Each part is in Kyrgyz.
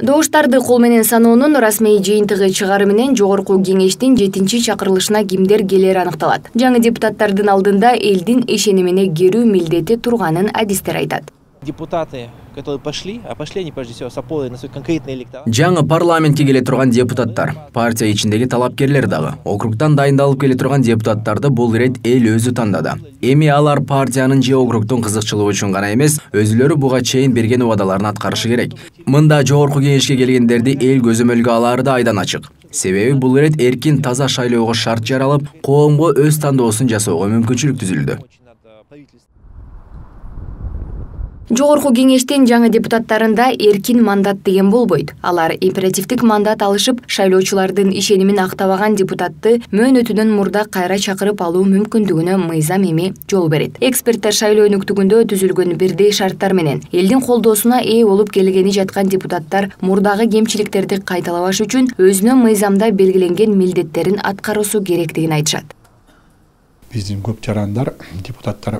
Добуштарды кол менен саноонун расмий жыйынтыгы чыгаары менен Жогорку Кеңештин 7-чакырылышына кимдер келери аныкталат. Жаңы депутаттардын алдында элдин ишенимине керүү милдети турганын адистер айтат. Депутаты, которые пошли они прежде всего с опорой на свой конкретный электорат. Жаңы парламентке келе турган депутаттар, партия ичиндеги талапкерлер дагы, округтан дайындалып келе турган депутаттарды бул ирет эл өзү тандады. Эми алар партиянын же округдун кызыкчылыгы үчүн гана эмес, өзүлөрү буга чейин берген убадаларын аткарышы керек. Мында Жогорку Кеңешке келгендерди эл көзөмөлгө алары да айдан ачык. Себеби бул ирет эркин таза шайлоого шарт жаралып, коомго өз тандоосун жасоого мүмкүнчүлүк түзүлдү. Жогорку Кеңештин жаңы депутаттарында эркин мандат деген болбойт. Алар императивдик мандат алышып, шайлоочулардын ишенимин актабаган депутатты мөөнөтүнөн мурда кайра чакырып алуу мүмкүндүгүнө мыйзам эми жол берет. Эксперттер шайлоо өнүктүгүндө түзүлгөн бирдей шарттар менен элдин колдоосуна ээ болуп келгени жаткан депутаттар мурдагы кемчиликтерди кайталабаш үчүн өзүнө мыйзамда белгиленген милдеттерин аткаруусу керектигин айтышат. Биздин көп жарандар депутаттар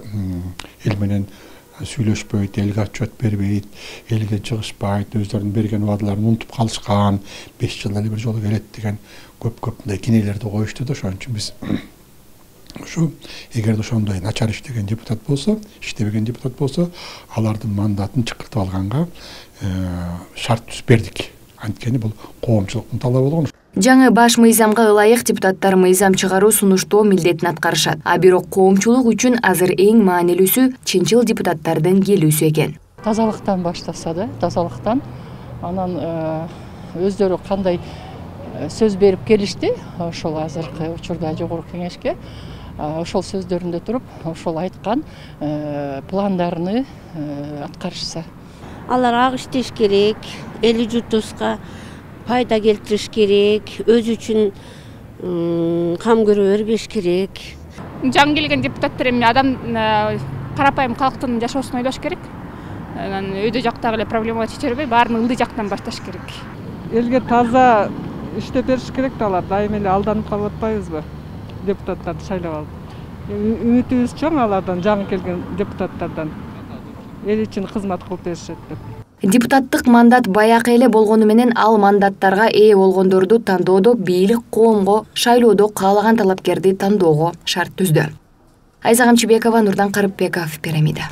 эл менен сүйлөшпөйт, элге отчет бербейт, элге чыгышпайт, өздөрүнүн берген убадаларын унутуп калышкан, 5 жылда эле бир жолу келет деген көп мындай кинелерди коюшту да. Ошон үчүн биз ушу эгерде ошондой начар иштеген депутат болсо, иштебеген депутат болсо, алардын мандатын чыкыртып алганга шарт түзүп бердик. Анткени бул коомчулуктун талабы болгон. Жаңы баш мыйзамга ылайык депутаттар мыйзам чыгаруу сунуштоо милдетин аткарышат. А бирок коомчулук үчүн азыр эң маанилүүсү чынчыл депутаттардын келүүсү экен. Тазалыктан баштаса да, тазалыктан анан өздөрү кандай сөз берип келишти, ошол азыркы учурда Жогорку Кеңешке ошол сөздөрүндө туруп, ошол айткан пландарын аткарышса. Алар ак иштеш керек, эли журтубузга пайда келтириш керек, өзү үчүн кам көрө бербеш керек. Жаңы келген депутаттар эми адам карапайым калктын жашоосун ойлош керек. Анан өйдө жактагы эле проблемаларды чече бербей, баарын ылдый жактан башташ керек. Элге таза иштеп бериш керек да, алар дайыма эле алданып калып атпайбызбы депутаттарды шайлап алып. Үмүтүбүз чоң алардан, жаңы келген депутаттардан. Эл үчүн кызмат кылып беришет деп. Депутаттык мандат баякы эле болгону менен ал мандаттарга ээ болгондорду тандоодо бийлик коомго шайлоодо каалаган талапкерди тандоого шарт түздү. Айза Камчыбекова, Нурдан Карыпбеков, Пирамида.